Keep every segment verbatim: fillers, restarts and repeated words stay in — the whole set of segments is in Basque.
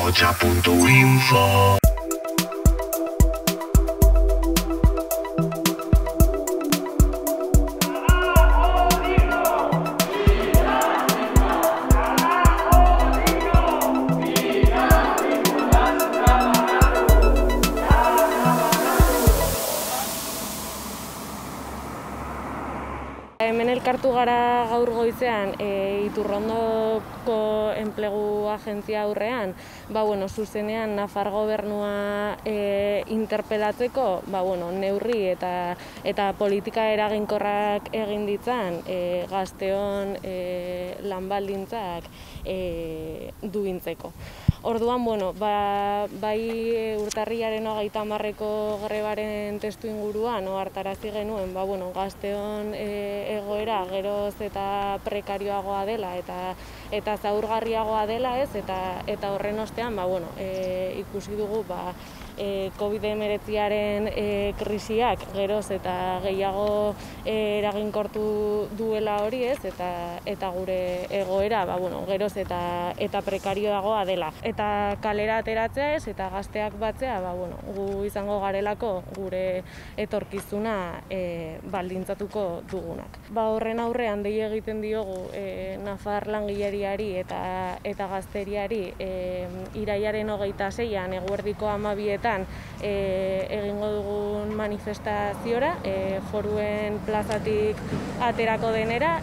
ahotsa puntu info. Hemen elkartu gara gaur goizean e, Iturrondoko enplegu agentzia aurrean, ba, bueno, zuzenean Nafar gobernua e, interpelatzeko, ba, bueno, neurri eta, eta politika eraginkorrak egin ditzan e, gazteon e, lanbaldintzak e, duintzeko. Orduan, bueno, ba, bai urtarrilaren hogeita hamarreko grebaren testu inguruan ohartarazi genuen, ba, bueno, gazteon e, egoera geroz eta prekarioagoa dela eta eta zaurgarriagoa dela, ez, eta eta horren ostean, ba, bueno, e, ikusi dugu, ba, e, covid hemeretziaren e, krisiak geroz eta gehiago e, eraginkortu duela hori, ez, eta eta gure egoera, ba, bueno, geroz eta eta prekarioagoa dela. Eta kalera ateratzea, ez, eta gazteak batzea, ba, bueno, gu izango garelako gure etorkizuna e, baldintzatuko dugunak. Ba, horren aurrean dei egiten diogu e, Nafar langileriari eta eta gazteriari e, irailaren hogeita seian eguerdiko hamabietan e, egingo dugun manifestaziora, e, Foruen plazatik aterako denera.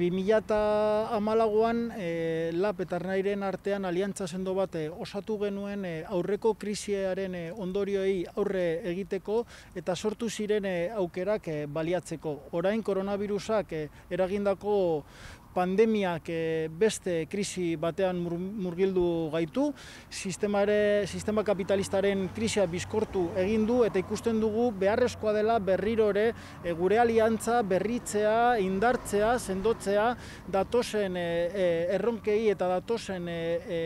bi mila hamalauan e, Lab eta Ernairen artean aliantza sendo bat e, osatu genuen e, aurreko krisiaren e, ondorioei aurre egiteko eta sortu ziren e, aukerak e, baliatzeko. Orain koronavirusak e, eragindako pandemiak e, beste krisi batean mur, murgildu gaitu, sistemare, sistema kapitalistaren krisia bizkortu egin du eta ikusten dugu beharrezkoa dela berriro ere e, gure aliantza berritzea, indartzea, sendotzea datozen e, e, erronkei eta datozen e, e,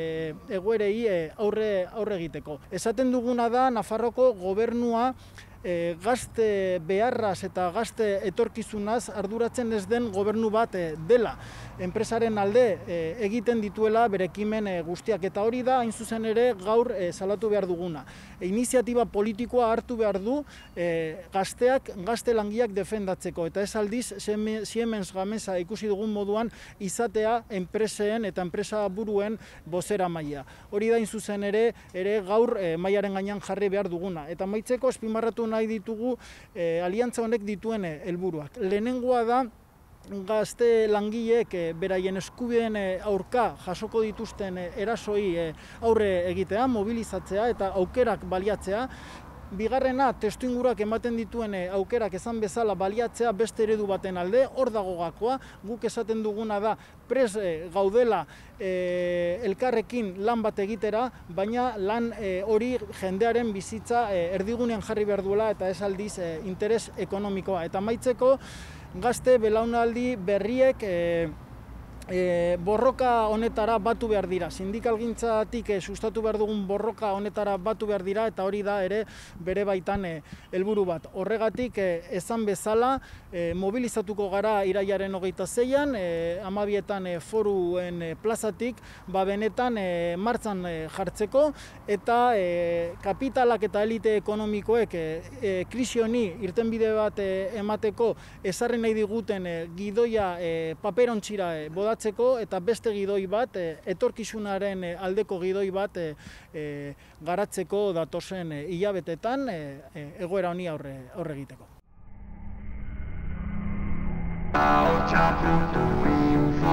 egoerei e, aurre, aurre egiteko. Esaten duguna da Nafarroko gobernua E, gazte beharraz eta gazte etorkizunaz arduratzen ez den gobernu bat e, dela. Enpresaren alde e, egiten dituela bere ekimen e, guztiak eta hori da hain zuzen ere gaur e, salatu behar duguna. E, iniziatiba politikoa hartu behar du e, gazteak, gazte langileak defendatzeko eta ez aldiz Siemens Gamesa ikusi dugun moduan izatea enpreseen eta enpresa buruen bozera maila. Hori da hain zuzen ere, ere gaur e, mailaren gainean jarri behar duguna. Eta maitzeko azpimarratu nahi ditugu e, aliantza honek dituen helburuak. Lehenengoa da gazte langileek e, beraien eskubideen e, aurka jasoko dituzten e, erasoi e, aurre egitea, mobilizatzea eta aukerak baliatzea. Bigarrena, testuinguruak ematen dituen aukerak esan bezala baliatzea beste eredu baten alde, hor dago gakoa, guk esaten duguna da pres gaudela e, elkarrekin lan bat egitera, baina lan e, hori jendearen bizitza e, erdigunean jarri behar duela eta ez aldiz e, interes ekonomikoa. Eta amaitzeko, gazte belaunaldi berriek e, E, borroka honetara batu behar dira. Sindikalgintzatik e, sustatu behar dugun borroka honetara batu behar dira eta hori da ere bere baitan e, helburu bat. Horregatik e, esan bezala e, mobilizatuko gara irailaren hogeita seian, e, hamabietan e, Foruen e, plazatik, ba benetan e, martzan e, jartzeko eta e, kapitalak eta elite ekonomikoek e, e, krisi honi irtenbide bat e, emateko ezarri nahi diguten e, gidoia e, paperontzira e, bodatzen eta beste gidoi bat, e, etorkizunaren e, aldeko gidoi bat e, e, garatzeko datozen e, hilabetetan e, e, egoera honi aurre, aurre egiteko. ahotsa puntu info